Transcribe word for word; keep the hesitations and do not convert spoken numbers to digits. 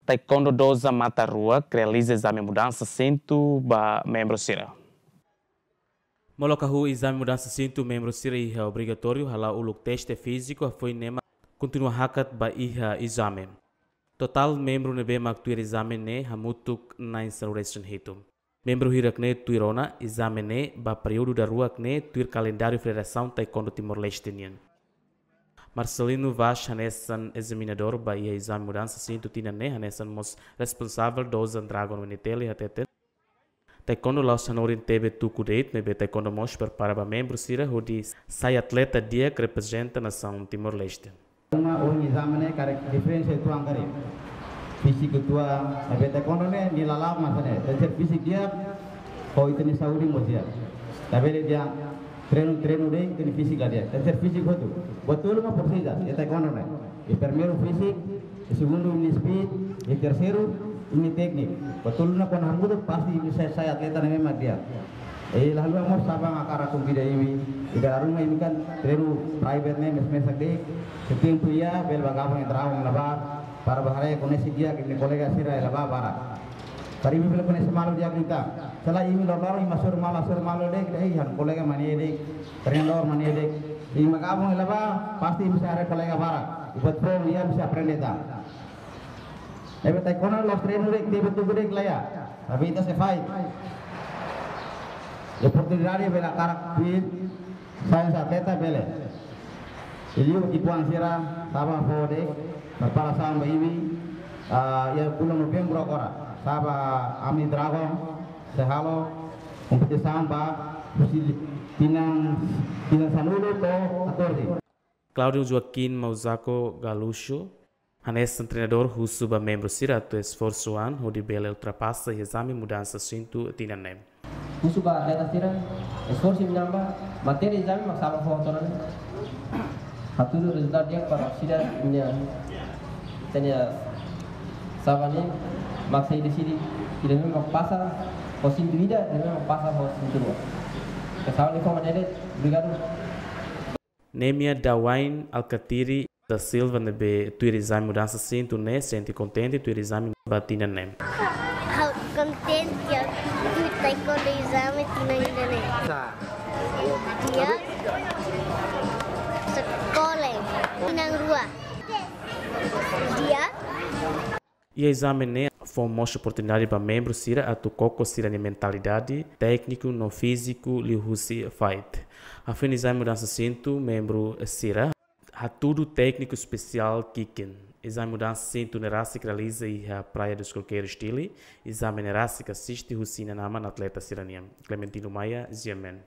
Taekwondo Doza Mata Ruak realiza ezame mudansa sintu ba membru sira. Molok hahú ezame mudansa sintu membru sira iha obrigatóriu hala'o uluk teste fíziku, hafoin ne'e mak kontinua hakat ba iha ezame. Totál membru ne'ebé mak tuir ezame ne'e hamutuk na'in sanulu-resin-hitu. Membru hirak ne'e tuir ona ezame ne'e ba períodu daruak ne'e tuir kalendáriu Federasaun Taekwondo Timor-Leste nian. Marcelino Vaz hanesan ezaminadór ba iha ezame mudansa sintu tinan ne'e, hanesan mós responsavel Doza Dragon W N T L hateten, taekwondo la'ós hanorin tebe tuku de'it, maibé taekwondo mós prepara ba membru sira hodi sai atleta di'ak reprezenta nasaun Timor-Leste. Uma ohin ezame ne'e karik diferensa uitoan karik. Fíziku uitoan, maibé taekwondo ne'e nia lala'ok mak hanesan ne'e. Tenke ser fíziku di'ak, ho ita-nia saúde mós di'ak. Labele dehan treinu, treinu de'it, ita-nia fíziku la di'ak. Tenke ser fíziku hotu. Buat tolu mak presiza iha taekwondo ne'e. Iha primeiru fíziku, iha segundu imi-nia speed, iha terseiru imi-nia tékniku. Buat tolu ne'e kuandu hamutuk pasti imi sai, sai atleta ne'ebé mak di'ak. I la haluha mós Sabang hakarak konvida imi, i dala ruma imi kan treinu private ne'e mesak-mesak de'it, se tempu iha bele bá gabung iha Dragon ne'ebá, para bá haree, koñese di'ak imi-nia kolega sira iha ne'ebá barak. Para imi bele koñese malu di'ak liután. Se lae imi loroloron imi hasoru malu, hasoru malu de'it, eh, ha'u-nia kolega mak ne'e de'it, treinadór mak ne'e de'it. Imi gabung iha ne'ebá, pasti imi sei haree kolega barak. I buat foun iha imi sei aprende tan. Ne'ebé taekwondo la'ós treinu de'it, tebe tuku de'it, lae. Tapi ita sei fight. Oportunidade bele hakarak tuir, sai hanesan atleta bele. I liu ki'ikoan sira, Sabang fó de'it, preparasaun ba imi, ah, iha bulan Novembru agora. Sabang ami Dragon sei halo kompetisaun ba husi tinan, tinan sanulu to'o katorze. Claudio Joaquim Mauzako Galuxo hanesan treinadór husu ba membru sira atu esforsu an hodi bele ultrapasa ezame mudansa sintu tinan ne'e. Husu ba atleta sira, esforsu imi-nia an ba, matéria ezame mak Sabang fó hotu ona. Hatudu rezultadu di'ak para orsida imi-nia, ita-nia Sabang ne'e mak sai deside, ida-ne'ebé mak pasa ho sintu ida, ida-ne'ebé mak pasa ho sintu rua. Ke Sabang ne'e fó maneira, obrigadu. Nemia Dawain Alkatiri da Silva ne'ebé tuir ezame mudansa sintu ne'e sente kontente tuir ezame ba tinan ne'e. Ha'u kontente tuir taekwondo ezame tinan ida-ne'e. Sa. Di'ak. Sekolah. Tinan rua. Di'ak. Iha ezame ne'e fó mós oportunidade ba membru sira atu koko sira-nia mentalidade, tékniku no fíziku liuhusi fight. Hafoin ezame mudansa sintu, membru sira hatudu tékniku espesiál kick. Ezame mudansa sintu ne'e rasik realiza iha Praia dos Coqueiros, Dili. Ezame ne'e rasik asiste husi inan-aman atleta sira-nian. Clementino Maia, G M N.